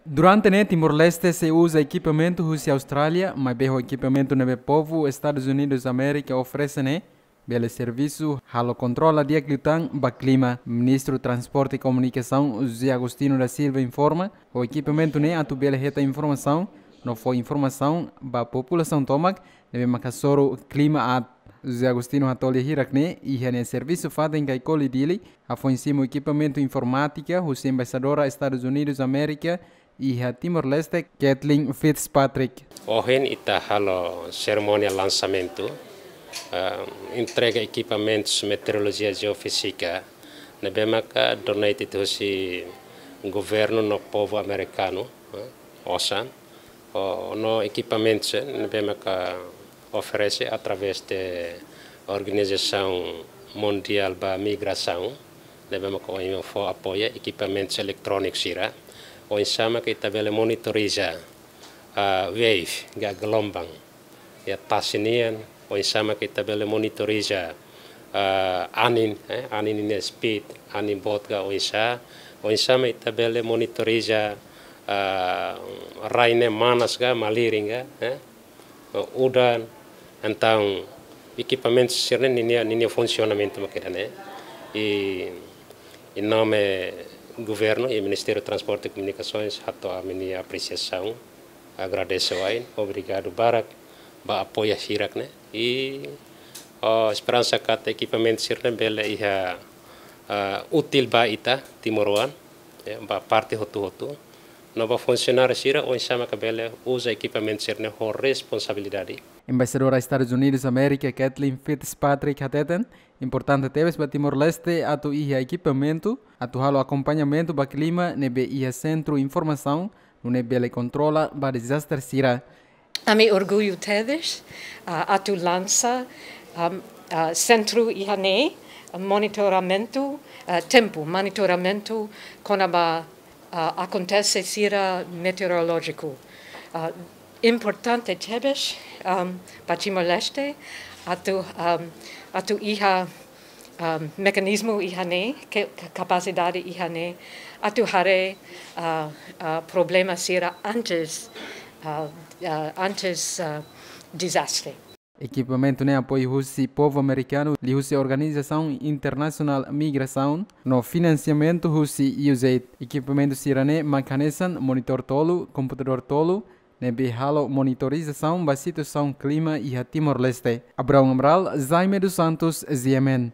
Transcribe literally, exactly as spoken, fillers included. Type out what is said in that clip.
Durante ne'e Timor-Leste sei uza ekipamentu husi Austrália, maibé ho ekipamentu ne'ebé povu Estadus Unidus Amérika oferese ne'e, bele servisu halo kontrola di'ak liután ba klima. Ministru Transporte i Komunikasaun José Agostinho da Silva informa, ho ekipamentu ne'e atu bele hetan informasaun no fó informasaun ba populasaun tomak ne'ebé mak hasoru klima aat. José Agostinho hato'o lia hirak ne'e iha nia servisu fatin Caicoli Dili, hafoin simu ekipamentu informátika husi Embaixadora Estadus Unidus Amérika iha Timor-Leste, Kathleen Fitzpatrick. Ohin ita halo serimónia lansamentu, ah, entrega ekipamentus meteorolojia jeofízika ne'ebé maka donated husi governu no povu amerikanu, eh, osan, o, no ekipamentus, eh, ne'ebé maka oferese através de Organizasaun Mundiál ba Migrasaun, ne'ebé maka ohin fó apoia ekipamentus eletróniku sira, oinsá maka ita bele monitoriza, ah, wave, ka gelombang, iha tasi nian, oinsá maka ita bele monitoriza, ah, anin, eh, anin nia speed, anin boot ka oinsá, oinsá maka ita bele monitoriza, ah, rai ne'e manas ka malirin ka, eh, udan. Entaun, ekipamentu sira-ne'e ninia, ninia funsionamentu mak ida-ne'e. I, em nome governu i Ministériu Transporte i Komunikasoens hato'o ami-nia apresiasaun, agradese wa'in, obrigadu barak ba apoia hirak ne'e. I, oh, esperansa katak ekipamentu sira-ne'e bele iha, ah, útil ba ita timoroan, ya, ba parte hotu-hotu. No ba funsionáriu sira oinsá maka bele uza ekipamentu sira-ne'e ho responsabilidade. Embaixadora Estadus Unidus Amérika, Kathleen Fitzpatrick, hateten, importante tebes ba Timor-Leste atu iha ekipamentu atu halo akompañamentu ba klima ne'ebé iha sentru informasaun, nune'e bele kontrola ba dezastre sira. Ami orgullu tebes, ah, atu lansa, am, ah, sentru iha ne'e, monitoramentu, ah, tempu, monitoramentu kona-ba, ah, akontese sira meteorolójiku. Ah, importante tebes, am, ba Timor-Leste, atu, am, atu iha, am, mekanizmu iha ne'e, ke, ka-, kapasidade iha ne'e, atu haree, ah, ah, problema sira antes, ah, ah, antes, ah, dezastre. Ekipamentu ne'e apoiu husi povu amerikanu, liuhusi Organizasaun Internasionál Migrasaun, no finansiamentu husi U S A I D. Ekipamentu sira-ne'e mak hanesan monitór tolu, komputadór tolu, ne'ebé halo monitorizasaun ba situasaun klima iha Timor-Leste. Abraão Amaral, Jaime dos Santos, G M N.